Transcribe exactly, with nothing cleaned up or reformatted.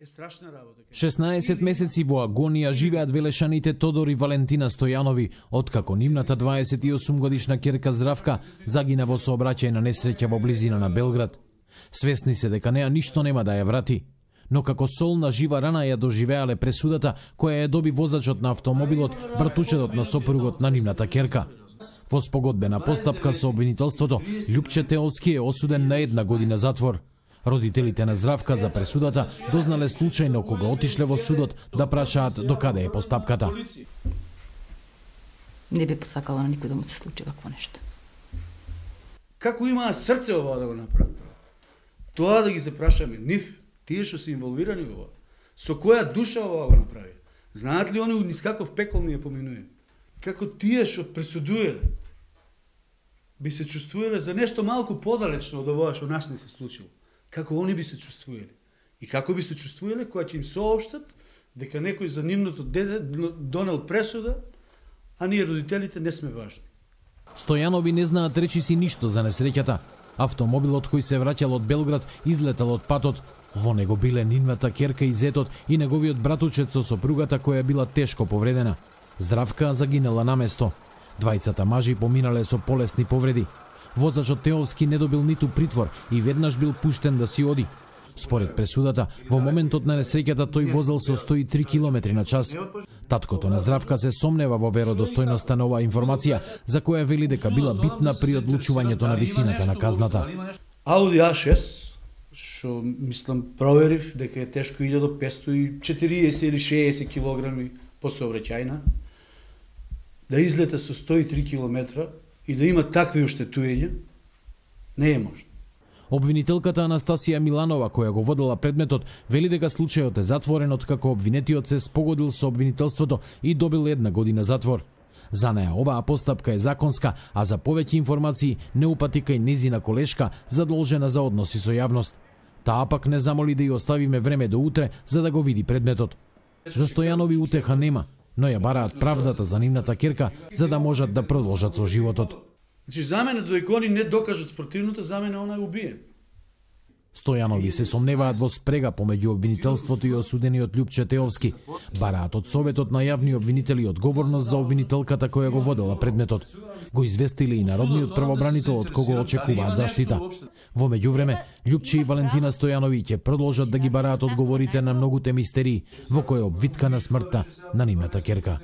Е страшна работа. шеснаесет месеци во агонија живеат велешаните Тодор и Валентина Стојанови, откако нивната дваесет и осум годишна ќерка Здравка загина во сообраќајна несреќа во близина на Белград. Свесни се дека неа ништо нема да ја врати, но како солна жива рана ја доживеале пресудата која ја доби возачот на автомобилот, братучетот на сопругот на нивната ќерка. Во спогодбена постапка со обвинителството, Љупче Теовски е осуден на една година затвор. Родителите на Здравка за пресудата дознале случајно кога отишле во судот да прашаат докаде е постапката. Не би посакала на никој да му се случи вакво нешто. Како имаа срце ова да го направи? Тоа да ги се прашаме нив, тие што се инволвирани во ова. Со која душа ова го направи? Знаат ли они низ каков пекол ми ја поминуе? Како тие што пресудуеле би се чувствувале за нешто малку подалечно од ова што нас не се случило. Како они би се чувствувале? И како би се чувствувале кога ќе им соопштат дека некој за нивното дете донел пресуда, а ние родителите не сме важни. Стојанови не знаат речиси ништо за несреќата. Автомобилот кој се враќал од Белград излетал од патот. Во него биле нивната ќерка и зетот и неговиот братучет со сопругата која била тешко повредена. Здравка загинала на место. Двајцата мажи поминале со полесни повреди. Возачот Теовски не добил ниту притвор и веднаш бил пуштен да си оди. Според пресудата, во моментот на несреќата тој возел со сто и три километри на час. Таткото на Здравка се сомнева во веродостојноста на оваа информација, за која вели дека била битна при одлучувањето на висината на казната. Ауди А шест, што мислам проверив дека е тешко илјада петстотини и четириесет или шеесет килограми по сообраќајна, да излета со сто и три километра и да има такви оштетувања, не е можно. Обвинителката Анастасија Миланова, која го водела предметот, вели дека случајот е затворен откако обвинетиот се спогодил со обвинителството и добил една година затвор. За неа оваа постапка е законска, а за повеќе информации не упати кај незина колешка задолжена за односи со јавност. Таа пак не замоли да ја оставиме време до утре за да го види предметот. За Стојанови утеха нема, но ја бараат правдата за нивната ќерка за да можат да продолжат со животот. Значи за мене додека они не докажат спротивното, за мене она е убиен. Стојанови се сомневаат во спрега помеѓу обвинителството и осудениот Љупче Теовски. Бараат од Советот на јавни обвинители одговорност за обвинителката која го водела предметот. Го известиле и народниот правобранител од кого очекуваат заштита. Во меѓувреме, Љупче и Валентина Стојанови ќе продолжат да ги бараат одговорите на многуте мистерии во која обвитка на смртта на нивната ќерка.